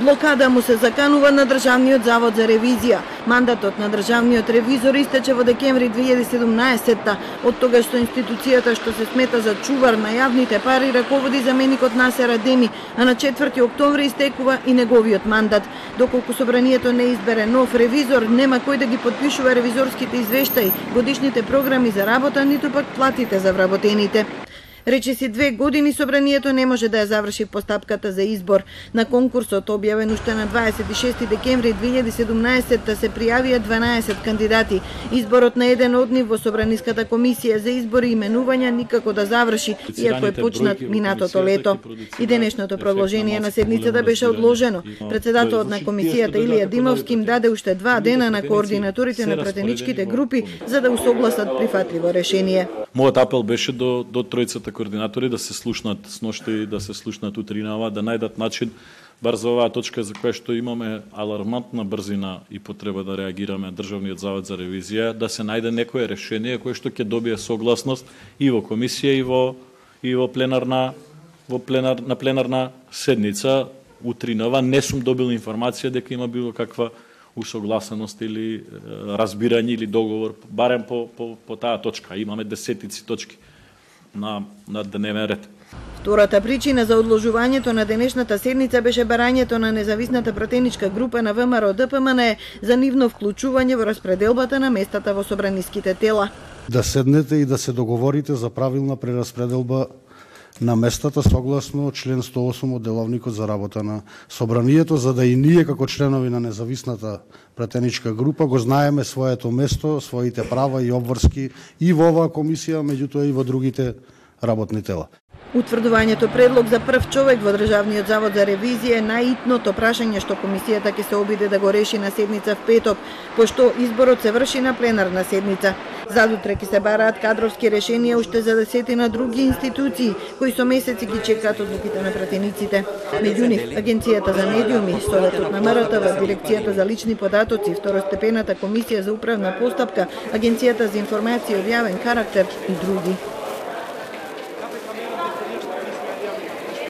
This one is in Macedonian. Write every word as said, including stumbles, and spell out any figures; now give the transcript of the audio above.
Блокада му се заканува на Државниот завод за ревизија. Мандатот на државниот ревизор истече во декември две илјади и седумнаесетта. Од тогаш со институцијата што се смета за чувар на јавните пари раководи заменикот Насер Адеми, а на четврти октомври истекува и неговиот мандат. Доколку собранието не избере нов ревизор, нема кој да ги потпишува ревизорските извештаи, годишните програми за работа, ниту пак платите за вработените. Речиси две години собранието не може да ја заврши постапката за избор. На конкурсот објавен уште на дваесет и шести декември две илјади и седумнаесетта се пријавија дванаесет кандидати. Изборот на еден од нив во Собраниската комисија за избори и именувања никако да заврши, иако е почнат минатото лето. И денешното продолжение на седницата беше одложено. Председателот на комисијата Илија Димовски им даде уште два дена на координаторите на пратеничките групи за да усогласат прифатливо решение. Мојот апел беше до до тројцата координатори да се слушнат сношти, да се слушнат утринава, да најдат начин бар за оваа точка за која што имаме алармантна брзина и потреба да реагираме Државниот завод за ревизија, да се најде некое решение кое што ќе добие согласност и во комисија и во и во пленарна во пленар на пленарна седница утринава. Не сум добил информација дека има било каква усогласеност или разбирање или договор барем по по по таа точка. Имаме десетици точки на на дневен ред. Втората причина за одложувањето на денешната седница беше барањето на независната пратеничка група на ВМРО Д П М Н за нивно вклучување во распределбата на местата во собраниските тела. Да седнете и да се договорите за правилна прераспределба на местата согласно член сто осум од Деловникот за работа на собранието, за да и ние како членови на независната пратеничка група го знаеме своето место, своите права и обврски и во оваа комисија, меѓутоа и во другите работни тела. Утврдувањето предлог за прв човек во Државниот завод за ревизија е најитното прашање што комисијата ќе се обиде да го реши на седница в петок, пошто изборот се врши на пленарна седница. Задутре ќе се бараат кадровски решенија уште за десетина други институции, кои со месеци ги чекаат одлуките на пратениците. Меѓу нив, Агенцијата за медиуми, Советот на М Р Т В, Дирекцијата за лични податоци, Второстепената комисија за управна постапка, Агенцијата за информација од јавен карактер и други.